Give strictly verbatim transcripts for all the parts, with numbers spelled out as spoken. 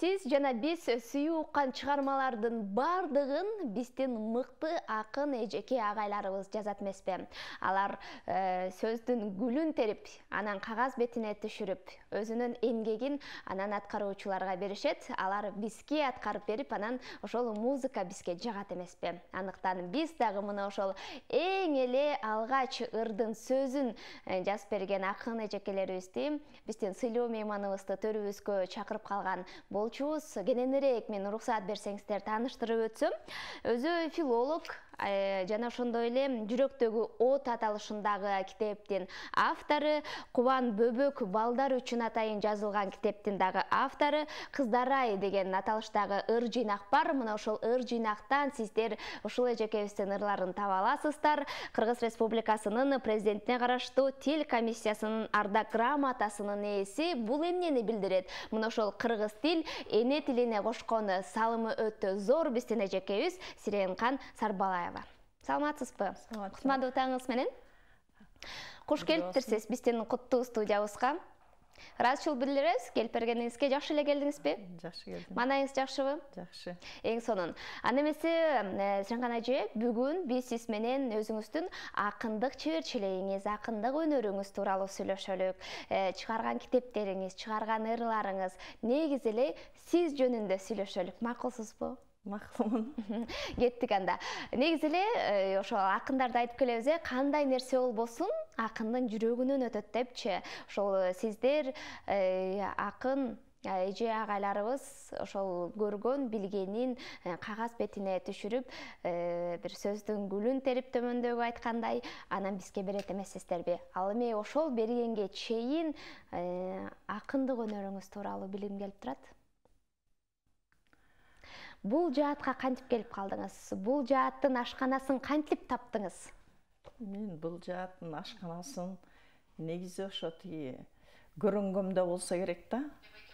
Сиз жана биз сүйүү уккан чыгармалардын бардыгын биздин мыкты акын эжеке агайларыбыз жазат эмеспи? Алар э, сөздүн гүлүн терип, анан кагаз бетине түшүрүп, өзүнүн эмгегин анан аткаруучуларга беришет. Алар бизге аткарып берип, анан ошол музыка бизге жагат эмеспи? Андыктан биз дагы мына ошол эң эле алгач ырдын сөзүн жазып берген акын эжекелерибизди, биздин сыйлуу мейманыбызды төрүбүзгө чакырып калган болчубуз. Кененирээк мен уруксаат берсеңиздер тааныштырып өтсөм, өзү филолог жана ошондой эле Жүрөктөгү от аталышындагы китептин автору, Кубан бөбөк балдар үчүн атайын жазылган китептин дагы автору, Кыздарай деген аталыштагы ыр жыйнак бар. Мына ошол ыр жыйнактан сиздер ушул эжекебиздин ырларын таба аласыздар. Кыргыз Республикасынын президентине караштуу тил комиссиясынын ардак грамотасынын ээси. Бул эмнени билдирет? Мына ошол кыргыз тил эне тилине кошкон салымы өтө зор биздин эжекебиз Сиренкан Сарбалаева. Саламатсызбы? Кутмандуу таңыңыз менен. Куш келиптирсиз биздин куттуу студиябызга. Ыраазычылык билдиребиз, келип бергениңизге. Жакшы эле келдиңизби? Жакшы келдим. Маанайыңыз жакшыбы? Жакшы. Эң сонун. Анда эмесе, Сиренкан эже, бүгүн биз сиз менен өзүңүздүн акындык чеберчилигиңиз, акындык өнөрүңүз тууралуу сүйлөшөлүк. Чыгарган китептериңиз, чыгарган ырларыңыз, негизи эле сиз жөнүндө сүйлөшөлүк. Макулсузбу? Макулмун. Кеттик анда. Негизи эле ошо акындарды айтып келебиз, кандай нерсе болбосун акындын жүрөгүнөн өтөт депчи. Ошол сиздер акын эже агайларыбыз ошол көргөн билгенин кагаз бетине түшүрүп, бир сөздүн гүлүн терип төмөндөгү айткандай, анан бизге берет эмессиздерби? Ал эми ошол бергенге чейин акындык өнөрүңүз тууралуу билгим келип турат. Бул жаатка кантип келип калдыңыз? Бул жааттын ашканасын кантип таптыңыз? Мен бул жааттын ашканасын негизи ошо тиги көрөнгөмдө болсо керек да.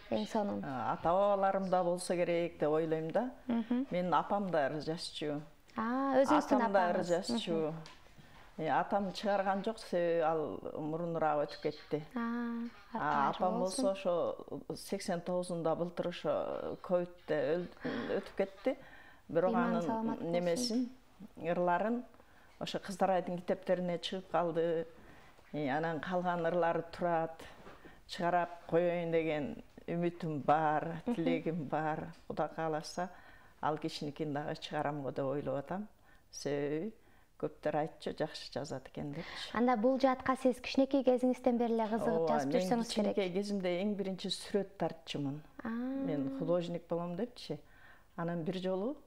Эң сонун. Ата бабаларымда болсо керек деп ойлойм да. Менин апам да ыр жазчу. А, өзүңүздүн апам да ыр жазчу. Атам чыгарган жок, себеби ал мурунураак өтүп кетти. Апам болсо ошо сексен тогузунда былтыр ошо ковидте өтүп кетти. Бирок анын немесин, ырларын ошо Кыздарайдын китептерине чыгып калды. Анан калган ырлары турат. Чыгарап коеюн деген үмүтүм бар, тилегим бар. Кудай кааласа, ал кишиникин дагы чыгарам го деп ойлоп атам. Себеби көптөр айтчу, жакшы жазат экен депчи. Анда бул жаатка сиз кичинекей кезиңизден бери эле кызыгып жазып жүрсөңүз керек. Мен кичинекей кезимде эң биринчи сүрөт тартчумун. Мен художник болом депчи. Анан бир жолу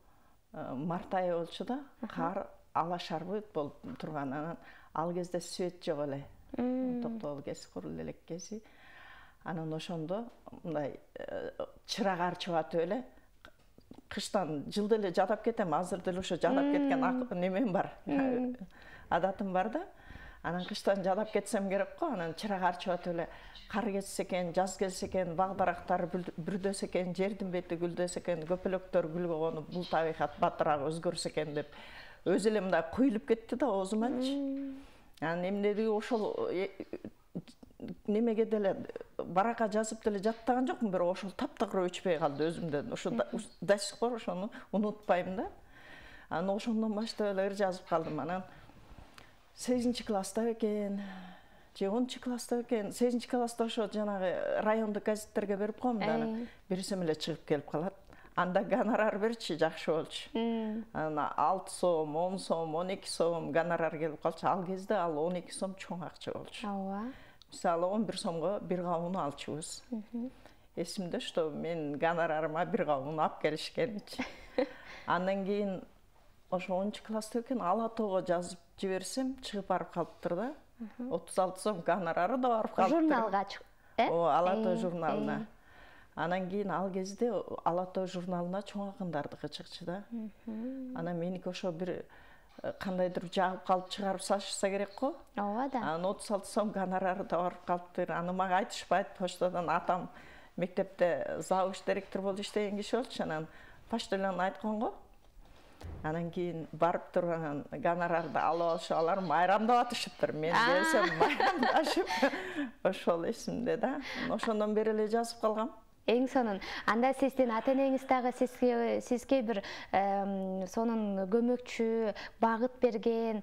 март айы болчу да, кар ала шарбыт болуп турган. Анан ал кезде свет жок эле. Токтогул кез, курул элек кези. Анан ошондо мындай чырак арчып атып эле кыштан жылда эле жадап кетем, азыр деле ошо жадап кеткен немем бар. Адатым бар да. Анан кыштан жадап кетсем керек го, анан чырак арчып атып эле кар кетсе экен, жаз келсе экен, баг дарактар бүрдөсө экен, жердин бети гүлдөсө экен, көпөлөктөр гүлгө конуп, бул табигат батыраак өзгөрсө экен деп өзү эле мындай куюлуп кетти да оозуманчы. Анан эмнеди ошол немеге деле баракка жазып деле жаттаган жокмун, бирок ошол таптагыр өчпөй калды өзүмдөн. Ошо до сих пор ошону унутпайм да. Анан ошондон баштап эле ыр жазып калдым. Анан сегизинчи класста экен, же онунчу класста экен, сегизинчи класста ошо жанагы райондук газеттерге берип коем да, анан берсем эле чыгып келип калат. Анда гонорар берчи, жакшы болчу. Анан алты сом, он сом, он эки сом гонорар келип калчу. Ал кезде ал он эки сом чоң акча болчу. Ооба. Мисалы он бир сомго бир кабын алчубуз. Эсимде, что мен гонорарыма бир кабын алып келишкенчи. Андан кийин ошо онунчу класста экен Ала тоого жазып жиберсем, чыгып барып калыптыр да. отуз алты сом гонорары да барып калыптыр. Журналга чыгып, э? О, Ала тоо журналына. Анан кийин ал кезде Ала тоо журналына чоң акындардыкы чыкчу да. Анан меники ошо бир кандайдыр жагып калып чыгарып салышса керек го. Ооба да. Анан отуз алты сом гонорары да барып калыптыр. Аны мага айтышпайт, поштадан атам мектепте завуч директор болуп иштеген киши болчу. Анан почтальон айткан го. Анан кийин барып туруп анан гонорарды алып алышы, алар майрамдап атышыптыр. Мен келсем майрамдашып ошол эсимде да. Ошондон бери эле жазып калгам. Эң сонун. Анда сиздин ата-энеңиз дагы сизге сизге бир сонун көмөкчү, багыт берген,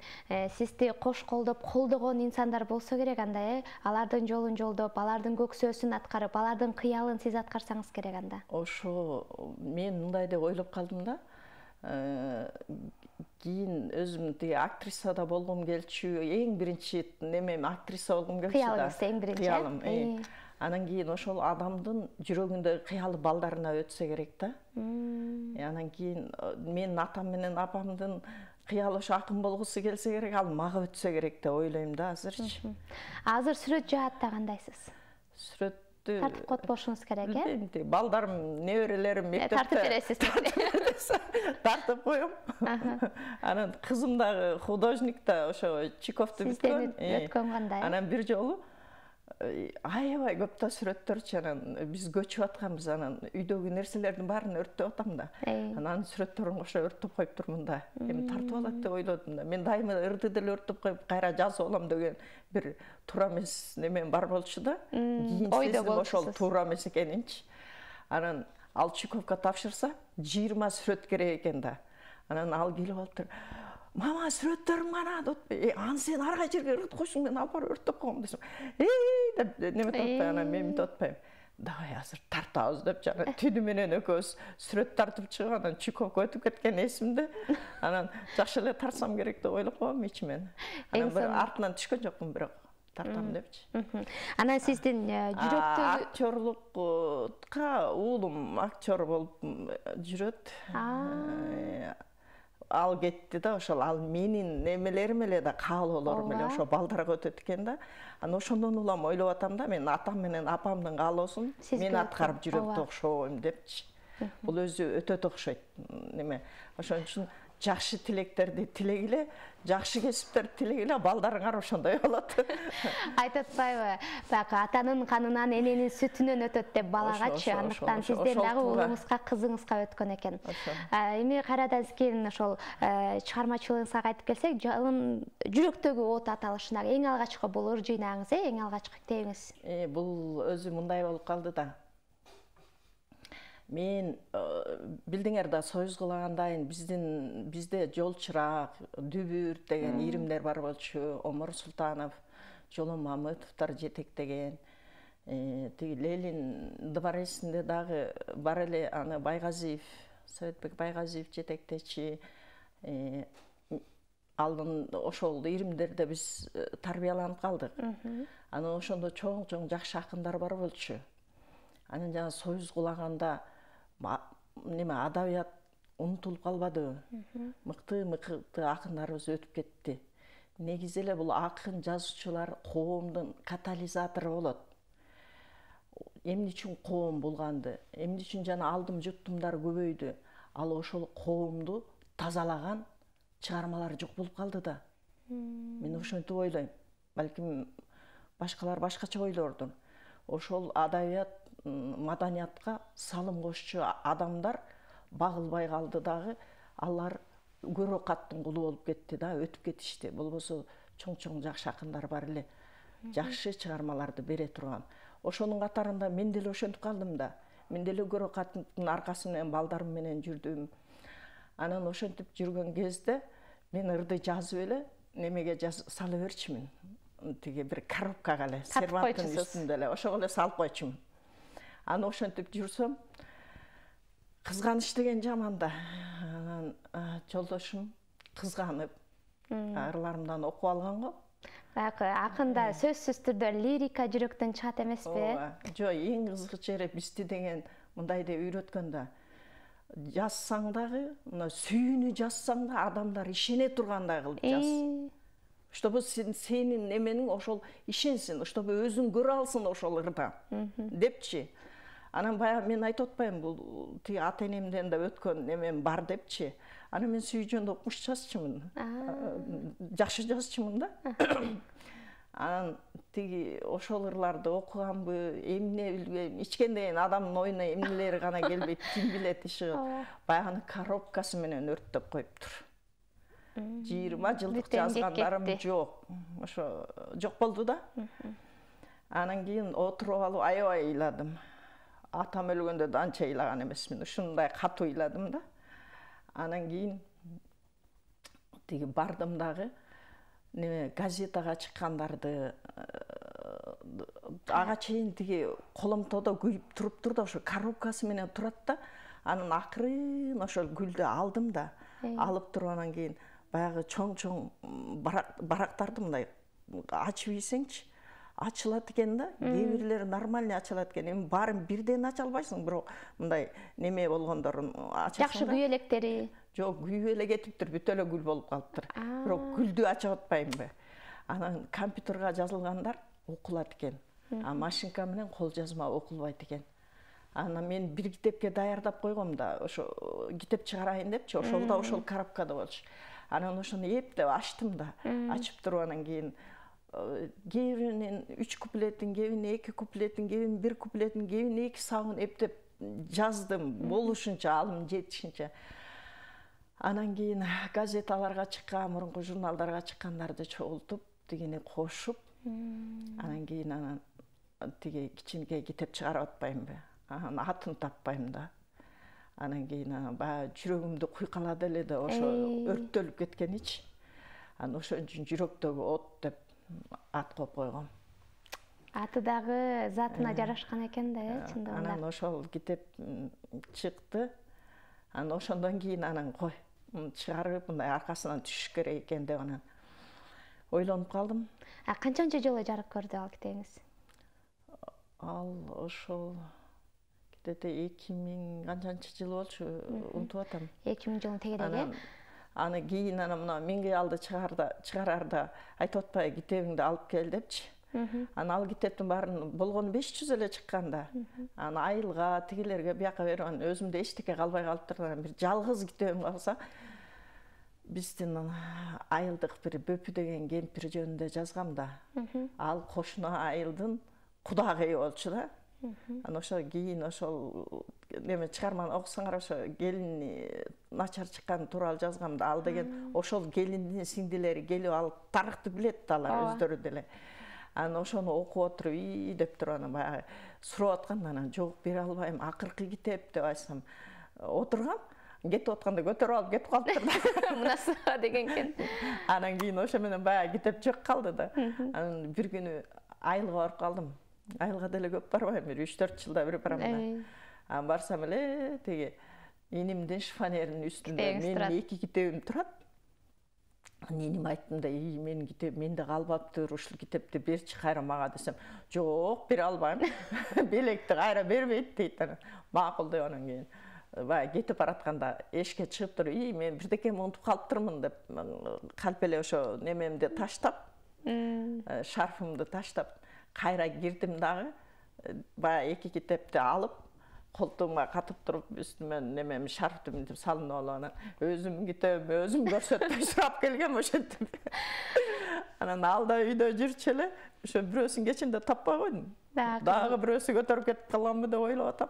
сизди кош колдоп, колдогон инсандар болсо керек анда, э? Алардын жолун жолдоп, алардын көксөөсүн аткарып, алардын кыялын сиз аткарсаңыз керек анда. Ошо мен мындай деп ойлоп калдым да. Кийин өзүм тиги актрисада болгум келчү, эң биринчи немем актриса болгум келчү да. Кыялыңыз эң биринчи. Кыялым. Анан кийин ошол адамдын жүрөгүндөгү кыялы балдарына өтсө керек да. Анан кийин менин атам менен апамдын кыялы ошо акын болгусу келсе керек, ал мага өтсө керек деп ойлойм да азырчы. Азыр сүрөт жаатта кандайсыз? Сүрөттү тартып котпошуңуз керек, э? Балдарым, неберелерим мектепте тартып бересиз. Тартып коем. Анан кызым дагы художник да, ошо Чайковду бүткөн. Сизден өткөн кандай? Анан бир жолу аябай көп да сүрөттөрчү, анан биз көчүп атканбыз, анан үйдөгү нерселердин баарын өрттөп атам да. Анан сүрөттөрүн кошо өрттөп коюп турмун да. Эми тартып алат деп ойлодум да. Мен дайыма ырды деле өрттөп коюп, кайра жазып алам деген бир туура эмес немен бар болчу да. Кийин сездим ошол туура эмес экенинчи. Анан ал Чайковго тапшырса, жыйырма сүрөт керек экен да. Анан ал келип алыптыр. Мама, сүрөттөрүм кана деп, аны сен арга жерге ырдып койсуң, мен алып барып өрттөп койгом десем. Эй деп неме таппай, анан мен мынтип атпайм. Давай азыр тартабыз деп жана түнү менен экөөбүз сүрөт тартып чыгып, анан Чайковго өтүп кеткен эсимде. Анан жакшы эле тартсам керек деп ойлоп койгом ичимен. Анан бир артынан түшкөн жокмун, бирок тартам депчи. Анан сиздин жүрөктөгү актерлукка уулум актер болуп жүрөт. Ал кетти да, ошол ал менин немелерим эле да, каалоолорум эле ошо балдарга өтөт экен да. Анан ошондон улам ойлоп атам да, мен атам менен апамдын каалоосун мен аткарып жүрөктү окшойм депчи. Бул өзү өтө окшойт неме. Ошон үчүн жакшы тилектерди тилегиле, жакшы кесиптерди тилегиле, балдарыңар ошондой болот. Айтып атпайбы, бак атанын канынан эненин сүтүнөн өтөт деп балагачы, андыктан сизден дагы уулуңузга, кызыңызга өткөн экен. Эми кайрадан кийин ошол чыгармачылыгыңызга кайтып келсек, жалын жүрөктөгү от аталышында эң алгачкы бул ыр жыйнагыңыз, э, эң алгачкы китебиңиз. Бул өзү мындай болуп калды да. Мен билдиңер да, союз кылагандайын биздин бизде Жолчурак, Дүбүрт деген иримдер бар болчу. Омар Султанов, Жолон Мамытовдор жетектеген. Тиги Ленин дворецинде дагы бар эле, аны Байгазиев, Советбек Байгазиев жетектечи. Алдын ошол иримдерде биз тарбияланып калдык. Анан ошондо чоң-чоң жакшы акындар бар болчу. Анан жана союз кулаганда неме адабият унутулуп калбадыбы? Мыкты-мыкты акындарыбыз өтүп кетти. Негизи эле бул акын жазуучулар коомдун катализатору болот. Эмне үчүн коом булганды, эмне үчүн жана алдым жуттумдар көбөйдү. Ал ошол коомду тазалаган чыгармалар жок болуп калды да. Мен ошентип ойлойм. Балким башкалар башкача ойлордур. Ошол адабият, маданиятка салым кошчу адамдар багылбай калды дагы, алар көрө каттын кулу болуп кетти да, өтүп кетишти. Болбосо чоң-чоң жакшы акындар бар эле, жакшы чыгармаларды бере турган. Ошонун катарында мен деле ошентип калдым да. Мен деле көрө каттын аркасы менен балдарым менен жүрдүм. Анан ошентип жүргөн кезде мен ырды жазып эле немеге сала берчимин. Тиги бир коробкага эле, серванттын үстүндө эле, ошого эле салып койчумун. Аны ошентип жүрсөм, кызганыч деген жаман да. Анан жолдошум кызганып, ырларымдан окуп алган го. Баягы акында сөзсүз түрдө лирика жүрөктөн чыгат эмеспи? Жок, эң кызык жери бизди деген мындай деп үйрөткөн да. Жазсаң дагы, мына сүйүүнү жазсаң да адамдар ишене тургандай кылып жаз. Чтобы сенин неменин ошол ишенсин, чтобы өзүң көрө алсын ошол ырда депчи. Анан баягы мен айтып атпайм, бул тиги ата-энемден да өткөн немем бар депчи. Анан мен сүйүү жөнүндө окумуш жазчумун. Жакшы жазчумун да. Анан тиги ошол ырларды окуганбы, эмне билбейм, ичкенден адамдын оюна эмнелери гана келбейт, ким билет иши. Баягы коробкасы менен өрттөп коюптур. жыйырма жылдык жазгандарым жок. Ошо жок болду да. Анан кийин отуруп алып аябай ыйладым. атам өлгөндө да анча ыйлаган эмесмин, ушундай катуу ыйладым да. Анан кийин тиги бардым дагы, неме газетага чыккандарды ага чейин тиги коломтодо күйүп туруптур да, ошо коробкасы менен турат да. Анан акырын ошол гүлдү алдым да, алып туруп анан кийин баягы чоң-чоң барактарды мындай ачып ийсеңчи, ачылат экен да. Кээ бирлери нормальный ачылат экен. Эми баарын бирден ача албайсың, бирок мындай неме болгондорун ачасың да. Жакшы күйүп электери. Жок, күйүп эле кетиптир, бүт эле гүл болуп калыптыр. Бирок гүлдү ачып атпаймынбы? Анан компьютерге жазылгандар окулат экен. А машинка менен кол жазма окулбайт экен. Анан мен бир китепке даярдап койгом да, ошо китеп чыгарайын депчи, ошол да ошол коробкада болчу. Анан ошону эптеп ачтым да, ачып туруп анан кийин кээ биринин үч куплетин, кээ биринин эки куплетин, кээ биринин бир куплетин, кээ биринин эки сабын эптеп жаздым, болушунча, алым жетишинче. Анан кийин газеталарга чыккан, мурунку журналдарга чыккандарды чогултуп, тигини кошуп, анан кийин анан тиги кичинекей китеп чыгарып атпаймынбы? Анан атын таппайм да. Анан кийин анан баягы жүрөгүмдү куйкалады эле да, ошо өрттөлүп кеткеничи. Анан ошон үчүн жүрөктөгү от деп ат коюп койгом. Аты дагы затына жарашкан экен да, э, чындыгында. Анан ошол китеп чыкты. Анан ошондон кийин анан кой, чыгарып мындай аркасынан түшүш керек экен деп анан ойлонуп калдым. А канчанчы жолу жарык көрдү ал китебиңиз? Ал ошол где-то эки миң канчанчы жыл болчу, унутуп атам. эки миң жылдын тегереги. Аны кийин анан мына менге алды чыгарда, чыгарарда айтып атпайбы, китебиңди алып кел депчи. Анан ал китептин баарын болгону беш жүз эле чыккан да. Анан айылга, тигилерге бияка берип, анан өзүмдө эчтеке калбай калыптыр. Анан бир жалгыз китебим калса, биздин айылдык бир Бөпү деген кемпир жөнүндө жазгам да. Ал кошуна айылдын кудагыйы болчу да. Анан ошо кийин ошол неме чыгарманы окусаңар, ошо келини начар чыккан тууралуу жазгам да. Ал деген ошол келиндин сиңдилери келип ал тарыхты билет да, алар өздөрү деле. Анан ошону окуп отуруп ии деп туруп анан баягы сурап аткан, анан жок бере албайм, акыркы китеп деп айтсам, отургам, кетип атканда көтөрүп алып кетип калыптыр да. Мунасы деген экен. Анан кийин ошо менен баягы китеп жок калды да. Анан бир күнү айылга барып калдым. Айылга деле көп барбайм, бир үч төрт жылда бир барам да. Анан барсам эле тиги инимдин шифонеринин үстүндө менин эки китебим турат. Неним айттым да, ий, менин китеп менде калбаптыр, ушул китепти берчи кайра мага десем, жок, бере албайм. Белекти кайра бербейт дейт. Макул деп анан кийин баягы кетип баратканда эшикке чыгып туруп, ий, мен бирдекемди унутуп калыптырмын деп калп эле ошо немемди таштап, шарфымды таштап кайра кирдим дагы, баягы эки китепти алып, колтугума катып туруп, үстүмөн немем шарфты мынтип салынып алып, анан өзүмдүн китебимди өзүм көрсөтпөй сурап келгем ошентип. Анан ал да үйдө жүрчү эле, ошо бирөөсүн кечинде таппай койдум. Дагы бирөөсү көтөрүп кетип калганбы деп ойлоп атам.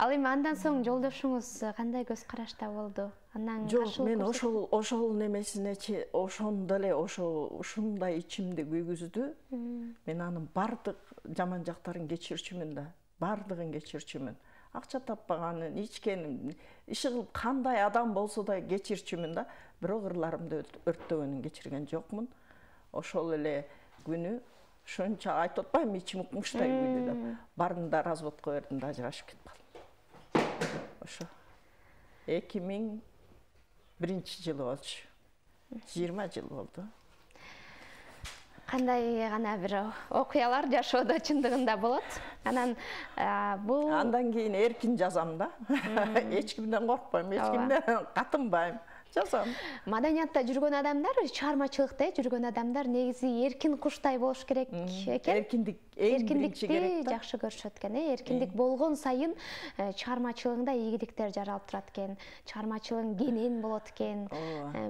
Ал эми андан соң жолдошуңуз кандай көз карашта болду? Андан жок, мен ошол ошол немесинечи, ошондо эле ошо ушундай ичимди күйгүздү. Мен анын бардык жаман жактарын кечирчүмүн да. Бардыгын кечирчүмүн. Акча таппаганын, ичкенин, иши кылып кандай адам болсо да кечирчүмүн да. Бирок ырларымды өрттөгөнүн кечирген жокмун. Ошол эле күнү ушунча айтып атпаймынбы, ичим укмуштай күйдү деп. Бардым да разводко бердим да, ажырашып кетип калдым. Ошо эки миң биринчи жылы болчу. жыйырма жыл болду. Кандай гана бир окуялар жашоодо чындыгында болот. Анан бул андан кийин эркин жазам да. Эч кимден коркпойм, эч кимден катынбайм. Жазам. Маданиятта жүргөн адамдар, чыгармачылыкта жүргөн адамдар негизи эркин куштай болуш керек экен. Эркиндик эң биринчи керек да. Жакшы көрүшөт экен, э? Эркиндик болгон сайын чыгармачылыгында ийгиликтер жаралып турат экен. Чыгармачылыгың кенен болот экен,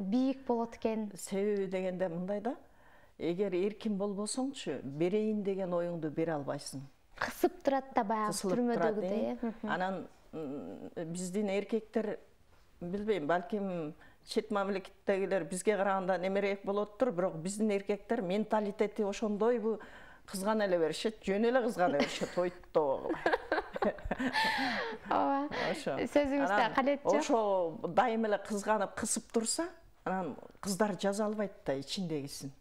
бийик болот экен. Себеби дегенде мындай да. Эгер эркин болбосоңчу, берейин деген оюңду бере албайсың. Кысып турат да баягы түрмөдөгүдөй, э? Анан биздин эркектер, билбейм, балким чет мамлекеттегилер бизге караганда немерээк болоттур, бирок биздин эркектер менталитети ошондойбу, кызгана эле беришет, жөн эле кызгана беришет, ойто. ооба ошо сөзүңүздө калетчи ошо дайым эле кызганып кысып турса анан кыздар жаза албайт да ичиндегисин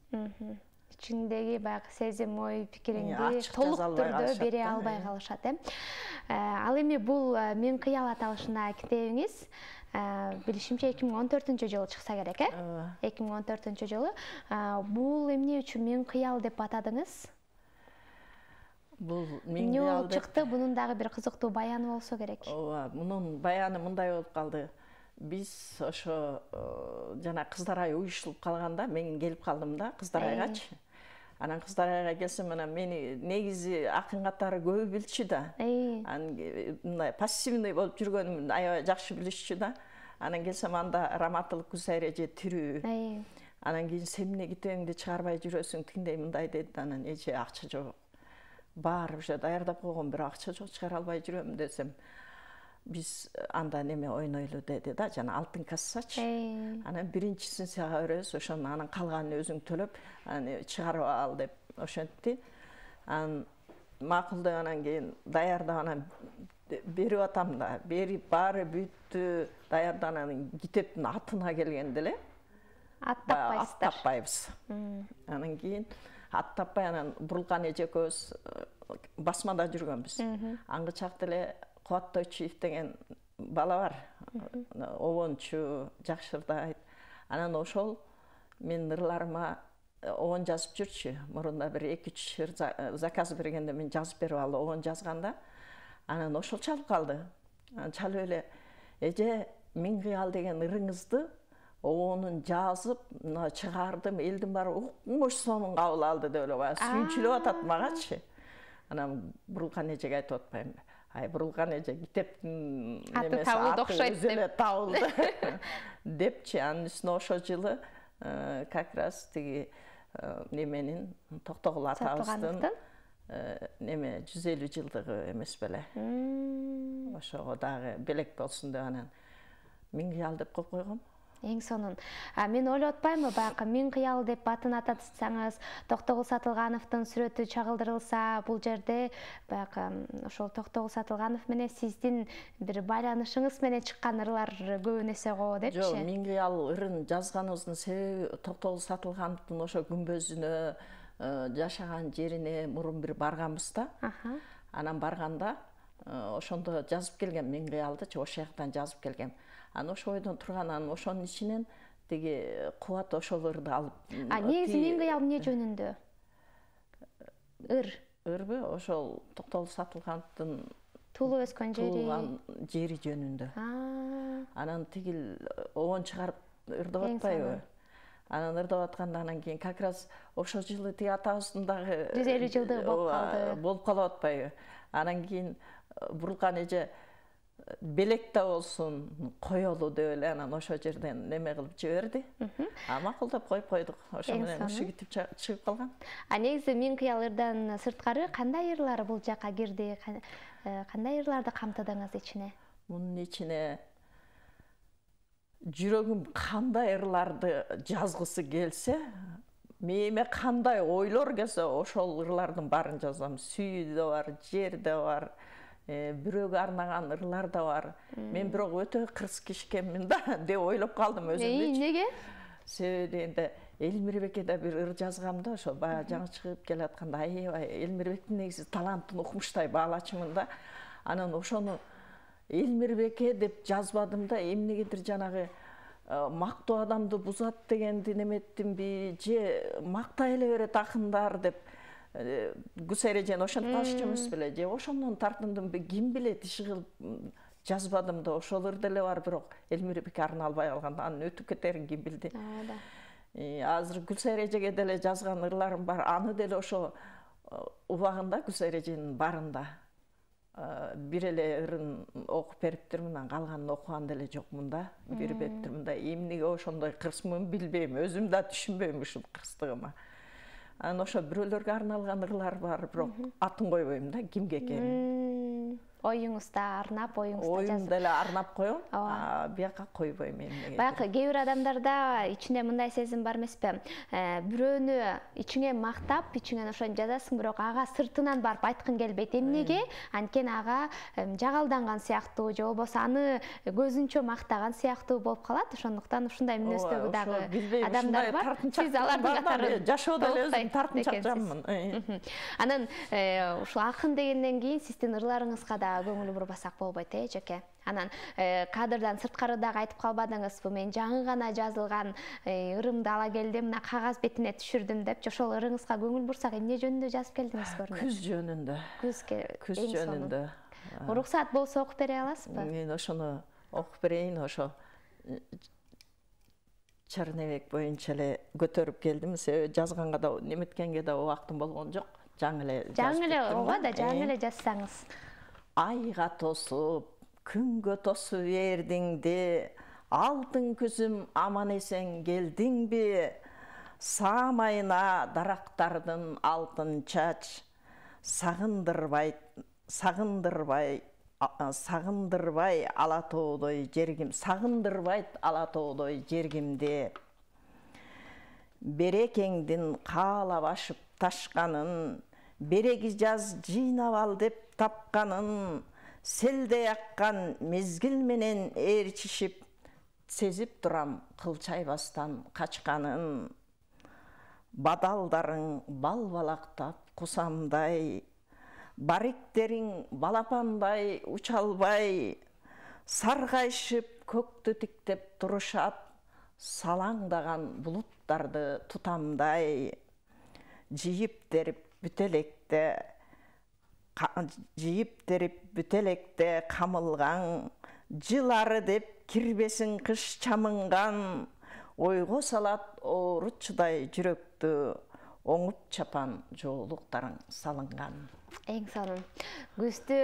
ичиндеги баягы сезим ой пикириңди толук түрдө бере албай калышат э ал эми бул Мен кыял аталышындагы китебиңиз билишимче эки миң он төртүнчү жылы чыкса керек э эки миң он төртүнчү жылы бул эмне үчүн Мен кыял деп атадыңыз? Бул эмне болуп чыкты? Бунун дагы бир кызыктуу баяны болсо керек. Ооба, мунун баяны мындай болуп калды. Биз ошо жана кыздар ай уюштуруп калганда мен келип калдым да кыздар айгачы. Анан кыздар айга келсем анан мени негизи акын катары көбү билчү да. Анан мындай пассивный болуп жүргөнүмдү аябай жакшы билишчү да. Анан келсем анда Раматыл Гүлсайыр эже тирүү. Анан кийин сен эмне китебиңди чыгарбай жүрөсүң тиндей мындай деди. Анан эже акча жок. Баары уже даярдап койгон, бирок акча жок чыгара албай жүрөм десем. Биз анда неме ойнойлу деди да, жана алтын кассачы. Анан биринчисин сага беребиз, ошону анан калганын өзүң төлөп, анан чыгарып ал деп ошентти. Анан макул деп анан кийин даярдап анан берип атам да, берип баары бүттү, даярдап анан китептин атына келгенде эле аттаппайсыздар. Аттаппайбыз. Анан кийин аттаппай анан Бурулкан эже экөөбүз басмада жүргөнбүз. Аңгычакта эле Кубаттойчуев деген бала бар. Обончу, жакшырдайт. Анан ошол мен ырларыма обон жазып жүрчү. Мурунда бир эки үч ыр заказ бергенде мен жазып берип алып обон жазганда, анан ошол чалып калды. Анан чалып эле эже Мен кыял деген ырыңызды обонун жазып, мына чыгардым, элдин баары укмуш сонун кабыл алды деп эле баягы сүйүнчүлүп атат магачы. Анан Бурулкан эжеге айтып атпаймынбы? Ай, Бурулкан эже китептин немеси аты окшойт деп табылды депчи. Анын үстүнө ошол жылы как раз тиги неменин Токтогул атабыздын неме жүз элүү жылдыгы эмес беле. Ошого дагы белек болсун деп анан Мен кыял деп коюп койгом. Эң сонун. Мен ойлоп атпаймынбы, баягы Мен кыял деп атын ататсаңыз, Токтогул Сатылгановдун сүрөтү чагылдырылса, бул жерде баягы ошол Токтогул Сатылганов менен сиздин бир байланышыңыз менен чыккан ырлар көбүнесе го депчи. Жок, Мен кыял ырын жазганыбыздын себеби Токтогул Сатылгановдун ошо күмбөзүнө, жашаган жерине мурун бир барганбыз да. Анан барганда ошондо жазып келгем Мен кыялдычы, ошол жактан жазып келгем. Анан ошо ойдон турган, анан ошонун ичинен тиги Кубат ошол ырды алып. А негизи Мен кыял эмне жөнүндө? Ыр. Ырбы ошол Токтогул Сатылгановдун туулуп өскөн жери. Туулган жери жөнүндө. Анан тигил обон чыгарып ырдап атпайбы? Анан ырдап атканда анан кийин как раз ошол жылы тиги атабыздын дагы жүз элүү жылдыгы болуп калды. Болуп калып атпайбы? Анан кийин Бурулкан эже белек да болсун коелу деп эле анан ошол жерден неме кылып жиберди. А макулдап коюп койдук. Ошо менен ушул китеп чыгып калган. А негизи Мен кыял ырдан сырткары кандай ырлар бул жакка кирди? Кандай ырларды камтыдыңыз ичине? Мунун ичине жүрөгүм кандай ырларды жазгысы келсе, мээме кандай ойлор келсе, ошол ырлардын баарын жазам. Сүйүү да бар, жер да бар. Бирөөгө арнаган ырлар да бар. Мен бирок өтө кырс киши экенмин да деп ойлоп калдым өзүмдү. Неге? Себеби дегенде Элмирбекке бир ыр жазгам да, ошо баягы жаңы чыгып келатканда аябай Элмирбектин негизи талантын укмуштай баалачумун да. Анан ошону Элмирбекке деп жазбадым да, эмнегедир жанагы мактоо адамды бузат дегенди неметтимби, же мактай эле берет акындар деп Гүлсайыр эжени ошентип калышчу эмес беле, же ошондон тартындымбы, ким билет, иши кылып жазбадым да, ошол ыр деле бар, бирок Элмирбекке арналбай калганда анын өтүп кетерин ким билди. Азыр Гүлсайыр эжеге деле жазган ырларым бар, аны деле ошо убагында Гүлсайыр эженин барында бир эле ырын окуп бериптирмин, анан калганын окуган деле жокмун да, бир бептирмин да. Эмнеге ошондой кырсмын билбейм, өзүм да түшүнбөйм ушул кырстыгыма. Анан ошо бирөөлөргө арналган ырлар бар, бирок атын койбойм да, кимге экенин. оюңузда арнап, оюңузда жазып. Оюмда эле арнап коем, бияка койбойм эмнеге. Баягы кээ бир адамдарда ичинде мындай сезим бар эмеспи? Бирөөнү ичиңе мактап, ичиңен ошону жазасың, бирок ага сыртынан барып айткың келбейт. Эмнеге? Анткени ага жагалданган сыяктуу, же болбосо аны көзүнчө мактаган сыяктуу болуп калат. Ошондуктан ушундай мүнөздөгү дагы адамдар бар. Сиз алардын катары жашоодо эле өзүм тартынчак жаммын. Анан ушул акын дегенден кийин сиздин ырларыңызга да көңүл бурбасак болбойт, э, Жеке. Анан кадрдан сырткары дагы айтып калбадыңыз, бу мен жаңы гана жазылган ырымды ала келдим, мына кагаз бетине түшүрдүм депчи. Ошол ырыңызга көңүл бурсак, эмне жөнүндө жазып келдиңиз көрүнөт? Күз жөнүндө. Күз жөнүндө. Уруксаат болсо окуп бере аласызбы? Мен ошону окуп берейин, ошо Чернебек боюнча эле көтөрүп келдим. Себеби жазганга да, неметкенге да убактым болгон жок. Жаңы эле жазып. Жаңы эле, ооба да, жаңы эле жазсаңыз. Айга тосуп, күнгө тосуп бердиңди, алтын күзүм аман эсен келдиңби? Саамайына дарактардын алтын чач, сагындырбай, сагындырбай, сагындырбай ала тоодой жергим, сагындырбайт ала тоодой жергимди. Берекеңдин каалап ашып ташканын, береги жаз жыйнап ал деп тапканын, селдей аккан мезгил менен ээрчишип, сезип турам кылчайбастан качканын. Бадалдарың бал балактап кусамдай, бариктериң балапандай уча албай, саргайышып көктү тиктеп турушат, салаңдаган булуттарды тутамдай. Жыйып терип бүтелекте, жыйып терип бүтелекте камылган, жылары деп кирбесин кыш чамынган, ойго салат оорутчудай жүрөктү, оңуп чапан жоолуктарың салынган. Эң сонун. Күздү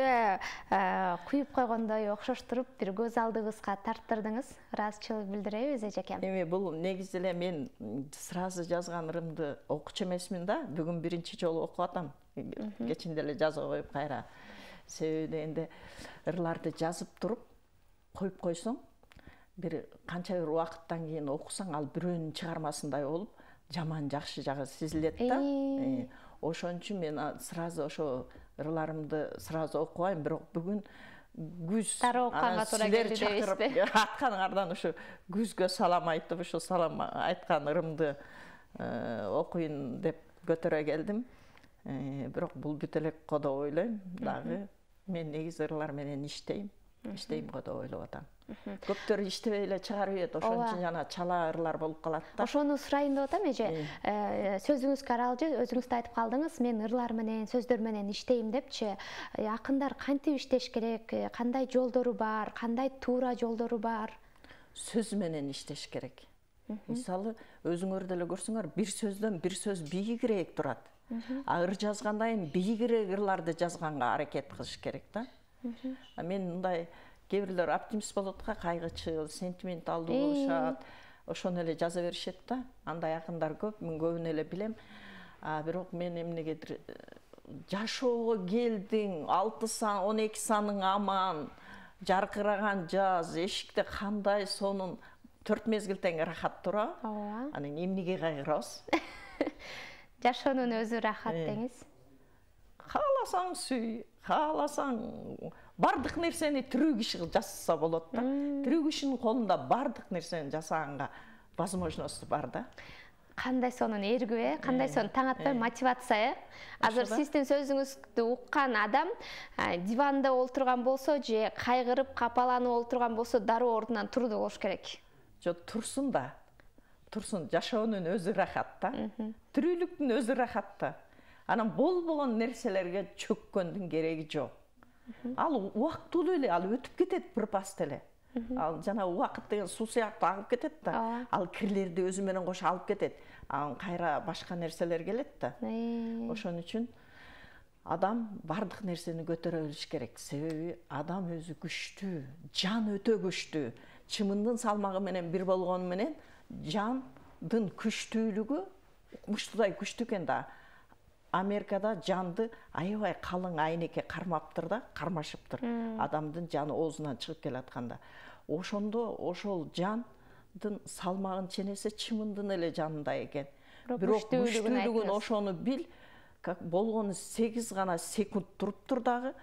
куюп койгондой окшоштуруп, бир көз алдыбызга тарттырдыңыз. Ыраазычылык билдиребиз, эжекем. Эми бул негизи эле мен сразу жазган ырымды окучу эмесмин да. Бүгүн биринчи жолу окуп атам. Кечинде эле жазып коюп кайра. Себеби дегенде ырларды жазып туруп коюп койсоң, бир канча бир убакыттан кийин окусаң, ал бирөөнүн чыгармасындай болуп, жаман жакшы жагы сезилет да. Ошон үчүн мен сразу ошо ырларымды сразу окубайм, бирок бүгүн күз тары окуганга туура келди дейсизби? Атканыңардан ушу күзгө салам айтып, ушу салам айткан ырымды окуйн деп көтөрө келдим. Бирок бул бүт элек го деп ойлойм дагы. Мен негизи ырлар менен иштейм. Иштейм го деп ойлоп атам. Көптөр иштебей эле чыгарып ийет, ошон үчүн жана чала ырлар болуп калат да. Ошону сурайын деп атам, эже. Сөзүңүзгө аралжы, өзүңүз да айтып калдыңыз, мен ырлар менен, сөздөр менен иштейм депчи. Акындар кантип иштеш керек? Кандай жолдору бар? Кандай туура жолдору бар? Сөз менен иштеш керек. Мисалы, өзүңөр деле көрсөңөр, бир сөздөн бир сөз бийигирээк турат. А ыр жазганда эми бийигирээк ырларды жазганга аракет кылыш керек да. Мен мындай кээ бирлер оптимист болот го, кайгычыл, сентименталдуу болушат. Ошону эле жаза беришет да. Андай акындар көп, мен көбүн эле билем. А бирок мен эмнегедир жашоого келдиң, алты сан, он эки саның аман, жаркыраган жаз, эшикте кандай сонун төрт мезгил тең рахат тура. Ооба. Анан эмнеге кайгырабыз? Жашоонун өзү рахат деңиз. Кааласаң сүй, кааласаң бардык нерсени тирүү киши жасаса болот да. Тирүү кишинин колунда бардык нерсени жасаганга возможность бар да. Кандай сонун эргүү, э? Кандай сонун таң атпай мотивация, э? Азыр сиздин сөзүңүздү уккан адам диванда олтурган болсо же кайгырып, капаланып олтурган болсо дароо ордунан турду болуш керек. Жок, турсун да. Турсун, жашоонун өзү рахат да. Тирүүлүктүн өзү рахат да. Анан болбогон нерселерге чөккөндүн кереги жок. Ал убактылуу эле, ал өтүп кетет бир паст эле. Ал жана убакыт деген суу сыяктуу агып кетет да. Ал кирлерди өзү менен кошо алып кетет. Анан кайра башка нерселер келет да. Ошон үчүн адам бардык нерсени көтөрө билиш керек. Себеби адам өзү күчтүү, жан өтө күчтүү. Чымындын салмагы менен бир болгону менен жандын күчтүүлүгү муштудай күчтүү экен да. Америкада жанды аябай калың айнекке кармаптыр да, кармашыптыр. Адамдын жаны оозунан чыгып келатканда. Ошондо ошол жандын салмагын ченесе чымындын эле жанында экен. Бирок күчтүүлүгүн ошону бил, как болгону сегиз гана секунд туруптур дагы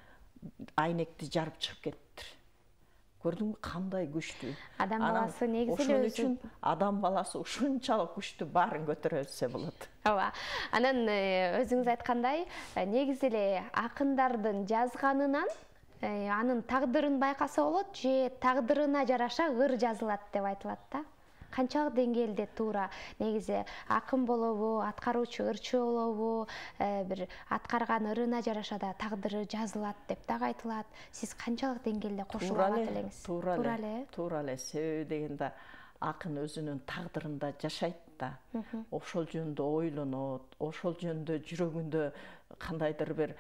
айнекти жарып чыгып кетиптир. Көрдүңбү кандай күчтүү? Адам баласы негизи ошон үчүн адам баласы ушунчалык күчтүү, баарын көтөрө билсе болот. Ооба. Анан өзүңүз айткандай, негизи эле акындардын жазганынан анын тагдырын байкаса болот, же тагдырына жараша ыр жазылат деп айтылат да. Канчалык деңгээлде туура? Негизи акын болобу, аткаруучу ырчы болобу, бир аткарган ырына жараша да тагдыры жазылат деп дагы айтылат. Сиз канчалык деңгээлде кошула алат элеңиз? Туура эле. Туура эле. Себеби дегенде акын өзүнүн тагдырында жашайт да. Ошол жөнүндө ойлонот, ошол жөнүндө жүрөгүндө кандайдыр бир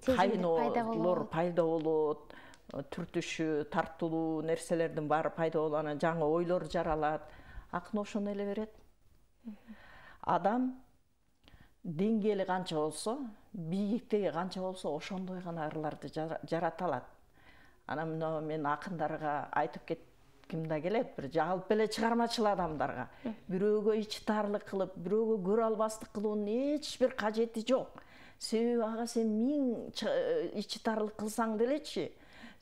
кайноолор пайда болот. Түртүшү, тартылуу нерселердин баары пайда болуп, анан жаңы ойлор жаралат. Акын ошону эле берет. Адам деңгээли канча болсо, бийиктиги канча болсо, ошондой гана ырларды жарата алат. Анан мына мен акындарга айтып кетким да келет, бир жалпы эле чыгармачыл адамдарга. Бирөөгө ичтарлык кылып, бирөөгө көрө албастык кылуунун эч бир кажети жок. Себеби ага сен миң ичтарлык кылсаң делечи,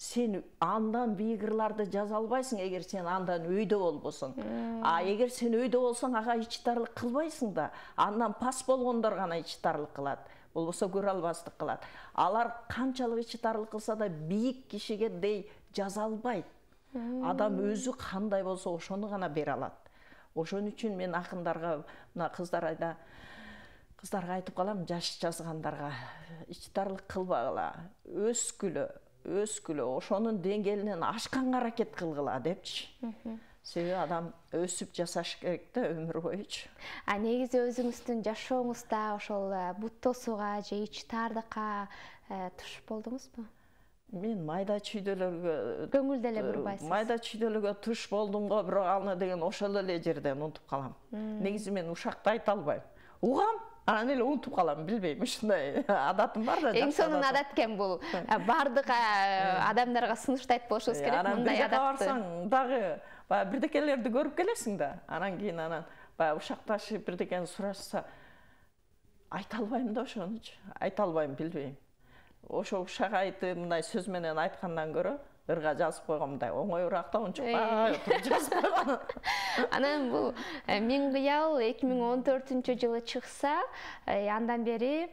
сен андан бийик ырларды жаза албайсың, эгер сен андан өйдө болбосоң. А эгер сен өйдө болсоң, ага ичтарлык кылбайсың да, андан пас болгондор гана ичтарлык кылат, болбосо көрө албастык кылат. Алар канчалык ичтарлык кылса да бийик кишиге дей жаза албайт. Адам өзү кандай болсо ошону гана бере алат. Ошон үчүн мен акындарга, мына кыздар айда кыздарга айтып калам, жаш жазгандарга ичтарлык кылбагыла, өскүлө, өскүлө, ошонун деңгээлинен ашканга аракет кылгыла депчи. Себеби адам өсүп жасаш керек да өмүр боючу. А негизи өзүңүздүн жашооңузда ошол бут тосууга же ичтардыкка туш болдуңузбу? Мен майда чүйдөлөргө көңүлдө эле бурбайсыз. Майда чүйдөлөргө туш болдум го, бирок аны деген ошол эле жерден унутуп калам. Негизи мен ушакта айта албайм. Угам, анан эле унутуп калам, билбейм, ушундай адатым бар да. Эң сонун адат экен бул. Бардык адамдарга сунуштайт болушубуз керек мындай адатты. Анан бир жака барсаң дагы баягы бирдекелерди көрүп келесиң да. Анан кийин анан баягы ушакташып бирдекени сурашса, айта албайм да ошонучу. Айта албайм, билбейм. Ошо ушак айтып, мындай сөз менен айткандан көрө ырга жазып койгон мындай оңоюраак да, унчукпай туруп жазып койгон. Анан бул Миң кыял эки миң он төртүнчү жылы чыкса, андан бери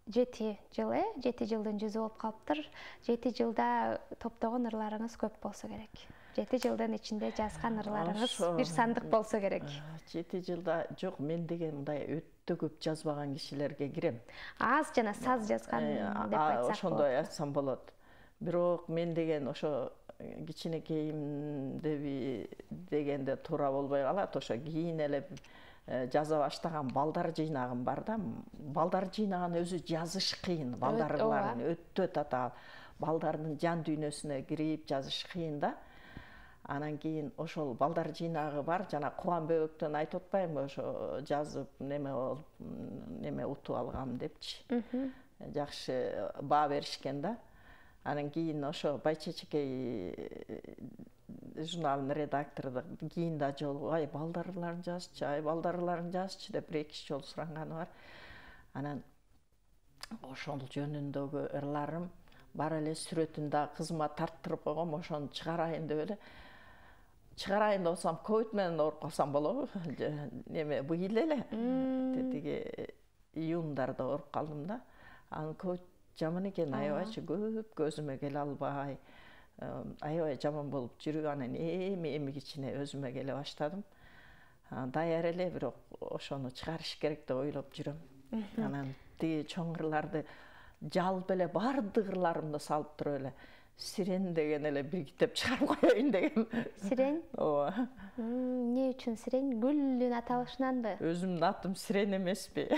жети жыл, э, жети жылдын жүзү болуп калыптыр. жети жылда топтогон ырларыңыз көп болсо керек. жети жылдын ичинде жазган ырларыңыз бир сандык болсо керек. жети жылда жок, мен деген мындай өтө көп жазбаган кишилерге кирем. Аз жана саз жазган деп айтсак болот. Ошондой айтсам болот. Бирок мен деген ошо кичинекейимде дегенде туура болбой калат. Ошо кийин эле жаза баштаган балдар жыйнагым бар да. Балдар жыйнаган өзү жазыш кыйын. Балдарларын өтө татаал. Балдардын жан дүйнөсүнө кирип жазыш кыйын да. Анан кийин ошол балдар жыйнагы бар, жана Кубан Бөбөктөн айтып атпаймынбы, ошо жазып неме болуп, неме утуп алгам депчи. Жакшы баа беришкен да. Анан кийин ошо Байчечекей журналынын редактору кийин да жолугуп, ай балдарларын жазчы, ай балдарларын жазчы деп бир эки жолу суранганы бар. Анан ошол жөнүндөгү ырларым бар эле, сүрөтүн да кызыма тарттырып койгом, ошону чыгарайын деп эле. Чыгарайын деп отсам, ковид менен ооруп калсам болобу? Неме быйыл эле. Тетиги июндарда ооруп калдым да. Анан ковид жаман экен, аябайчы көп көзүмө келе албай, аябай жаман болуп жүрүп, анан эми эми кичине өзүмө келе баштадым. Даяр эле, бирок ошону чыгарыш керек деп ойлоп жүрөм. Анан тиги чоң ырларды жалпы эле бардык ырларымды салып туруп эле Сирен деген эле бир китеп чыгарып коеюн дегем. Сирен? Ооба. Эмне үчүн Сирен? Гүлдүн аталышынанбы? Өзүмдүн атым Сирен эмеспи?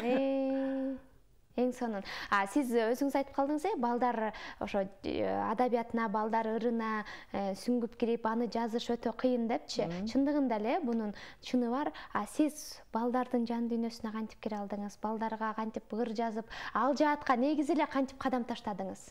Эң сонун. А сиз өзүңүз айтып калдыңыз э, балдар ошо адабиятына, балдар ырына сүңгүп кирип, аны жазыш өтө кыйын депчи. Чындыгында эле бунун чыны бар. А сиз балдардын жан дүйнөсүнө кантип кире алдыңыз? Балдарга кантип ыр жазып, ал жаатка негизи эле кантип кадам таштадыңыз?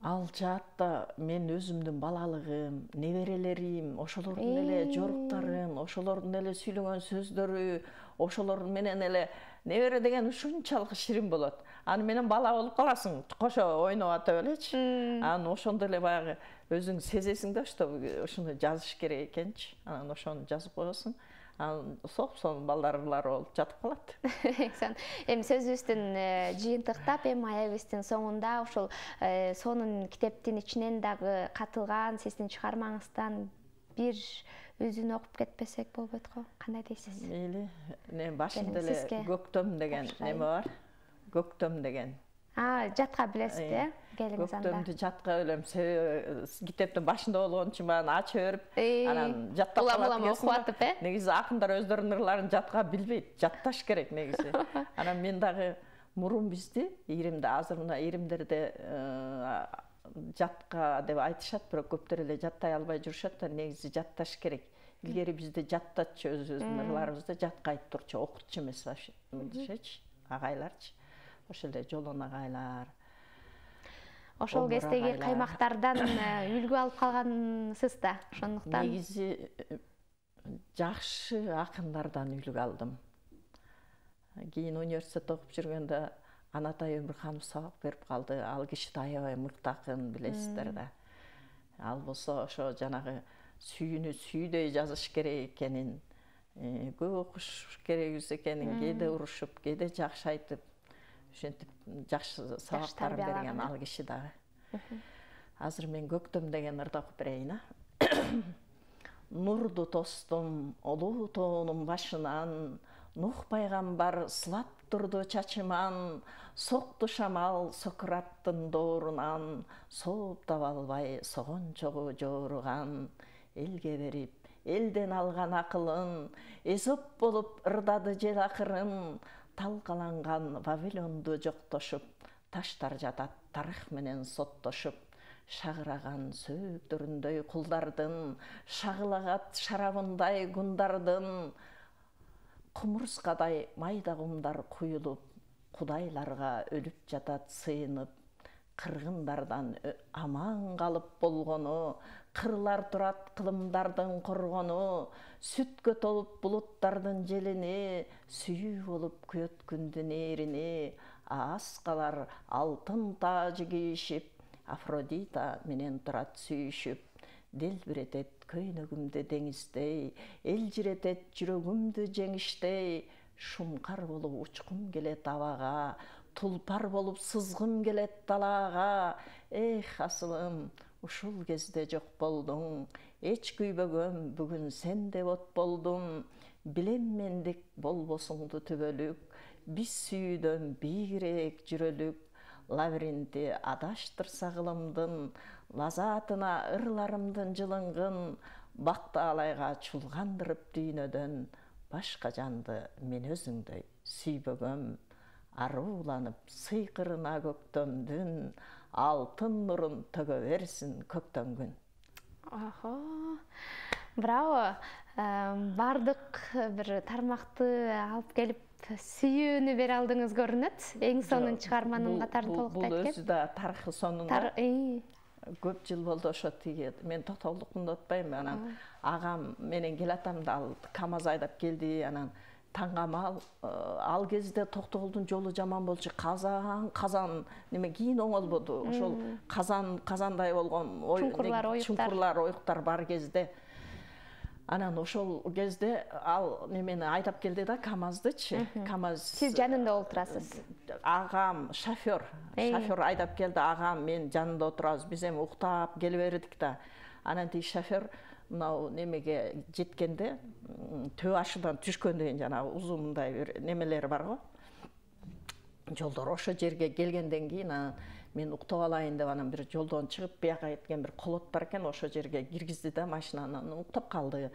Ал жаатта мен өзүмдүн балалыгым, неберелерим, ошолордун эле жоруктарын, ошолордун эле сүйлөгөн сөздөрү, ошолор менен эле небере деген ушунчалык ширин болот. Аны менен бала болуп каласың, кошо ойноп атып элечи. Анан ошондо эле баягы өзүң сезесиң да, что ушуну жазыш керек экенчи. Анан ошону жазып коесуң. Анан соп-сонун балдарлар болуп жатып калат. Эми сөзүбүздүн жыйынтыктап, эми аябыбыздын соңунда ушул сонун китептин ичинен дагы катылган сиздин чыгармаңыздан бир үзүн окуп кетпесек болбойт го? Кандай дейсиз? Мейли. Не башында эле Көктөм деген неме бар? Көктөм деген. А, жатка билесиз э? Келиңиз анда. Көктөмдү жатка билем. Китептин башында болгон үчүн баягы ача берип, анан жаттап калат окуп э? Негизи акындар өздөрүнүн ырларын жатка билбейт. Жатташ керек негизи. Анан мен дагы мурун бизди Иримде, азыр мына Иримдерде жатка деп айтышат, бирок көптөр эле жаттай албай жүрүшөт да, негизи жатташ керек. Илгери бизде жаттатчы өзүбүздүн ырларыбызды жатка айтып турчу, окутчу эмес башычы, агайларчы. Ошол эле Жолон агайлар. Ошол кездеги каймактардан үлгү алып калгансыз да, ошондуктан. Негизи жакшы акындардан үлгү алдым. Кийин университетте окуп жүргөндө Анатай Өмүрханов сабак берип калды. Ал киши да аябай мыкты акын, билесиздер да. Ал болсо ошо жанагы сүйүүнү сүйдөй жазыш керек экенин, көп окуш керек экенин, кээде урушуп, кээде жакшы айтып, ошентип жакшы сабактар берген ал киши дагы. Азыр мен Көктөм деген ырды окуп берейин, а. Нурду тостум олуу тоонун башынан, Нух пайгамбар сылап турду чачыман, сокту шамал Сократтын доорунан, сооп таба албай согончогу жооруган, элге берип, элден алган акылын, Эзоп болуп ырдады жел акырын, талкаланган Вавилонду жоктошуп, таштар жатат тарых менен соттошуп, шагыраган сөөктөрүндөй кулдардын, шагылагат шарабындай гундардын, кумурскадай майда кумдар куюлуп, кудайларга өлүп жатат сыйынып, кыргындардан аман калып болгону, кырлар турат кылымдардын коргону, сүткө толуп булуттардын желини, сүйүү болуп күйөт күндүн ээрини, ааскалар алтын таажы кийишип, Афродита менен турат сүйүшүп, делбиретет көйнөгүмдү деңиздей, элжиретет жүрөгүмдү жеңиштей, шумкар болуп учкум келет абага, тулпар болуп сызгым келет далаага, эх асылым, ушул кезде жок болдуң, эч күйбөгөм, бүгүн сен деп от болдум, билем мендик болбосуңду түбөлүк, биз сүйүүдөн бийигирээк жүрөлүк, лабиринти адаштырса кылымдын, лазатына ырларымдын жылынгын, бактаалайга чулгандырып дүйнөдөн, башка жанды мен өзүңдөй сүйбөгөм, арууланып сыйкырына Көктөмдүн, алтын нурун төгө берсин көктөнгүн. Охо, браво. Бардык бир тармакты алып келип сүйүүнү бере алдыңыз көрүнөт. Эң сонун чыгарманын катарын толуктайт экен. Бул өзү да тарыхы сонун. Көп жыл болду ошо тиги, мен токтогулдуктун атпайм, анан агам менен келатам да, ал КамАЗ айдап келди, анан таңгамал, ал кезде Токтогулдун жолу жаман болчу, казан, казан, неме кийин оңолбоду, ошол казан, казандай болгон чуңкурлар, оюктар бар кезде. Анан ошол кезде ал немени айдап келди да, КамАЗдычы. КамАЗ. Сиз жанында олтурасыз. Агам, шофёр, шофёр айдап келди, агам, мен жанында отурабыз. Биз эми уктап келе бердик да. Анан тиги шофёр мынау немеге жеткенде, төө ашыдан түшкөндөн жанагы узун мындай бир немелер бар го. Жолдор ошо жерге келгенден кийин анан мен уктап алайын деп анан бир жолдон чыгып бияка кеткен бир колот бар экен, ошо жерге киргизди да машинаны, уктап калды.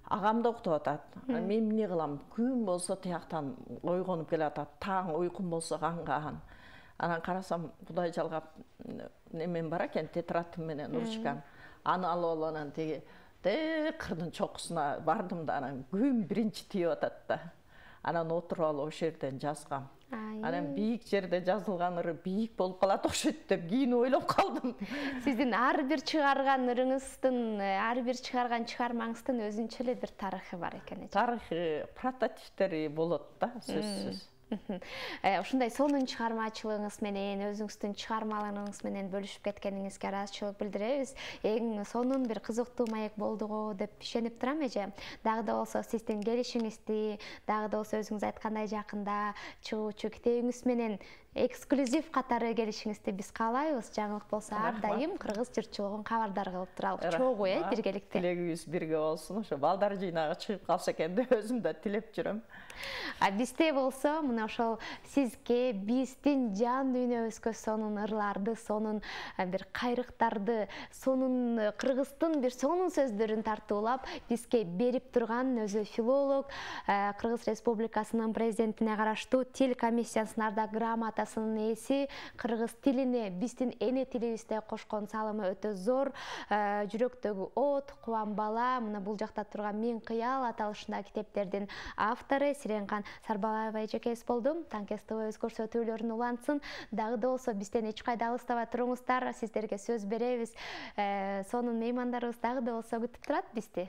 агам да уктап атат. Мен эмне кылам? Күн болсо тияктан ойгонуп келатат. Таң уйкум болсо канган. Анан карасам Кудай жалгап немен бар экен, тетрадым менен ручкам. Аны алып алып анан тиги кырдын чокусуна бардым да анан күн биринчи тийип атат да. Анан отуруп алып ошол жерден жазгам. Анан бийик жерде жазылган ыры бийик болуп калат окшойт деп кийин ойлоп калдым. Сиздин ар бир чыгарган ырыңыздын, ар бир чыгарган чыгармаңыздын өзүнчө эле бир тарыхы бар экен. Тарыхы, прототиптери болот да, сөзсүз. Ушундай сонун чыгармачылыгыңыз менен, өзүңүздүн чыгармаларыңыз менен бөлүшүп кеткениңизге ыраазычылык билдиребиз. Эң сонун бир кызыктуу маек болду го деп ишенип турам эже. Дагы да болсо сиздин келишиңизди, дагы да болсо өзүңүз айткандай жакында чыгуучу китебиңиз менен эксклюзив катары келишиңизди биз каалайбыз. Жаңылык болсо ар дайым кыргыз журтчулугун кабардар кылып туралык. Чогуу э биргеликте. Тилегибиз бирге болсун. Ошо балдар жыйнагы чыгып калса экен деп өзүм да тилеп жүрөм. А бизде болсо мына ошол сизге биздин жан дүйнөбүзгө сонун ырларды, сонун бир кайрыктарды, сонун кыргыздын бир сонун сөздөрүн тартуулап бизге берип турган өзү филолог, Кыргыз Республикасынын президентине караштуу тил комиссиясынын ардак грамотасынын ээси, кыргыз тилине биздин эне тилибизде кошкон салымы өтө зор, жүрөктөгү от, Кубан бала, мына бул жакта турган Мен кыял аталышындагы китептердин автору Сиренган Сарбалаева эжекебиз болду. Танкестовбуз көрсөтүүлөрүн улантсын. Дагы да болсо бизден эч кайда алыстабай туруңуздар. Сиздерге сөз беребиз. Сонун меймандарыбыз дагы да болсо күтүп турат бизди.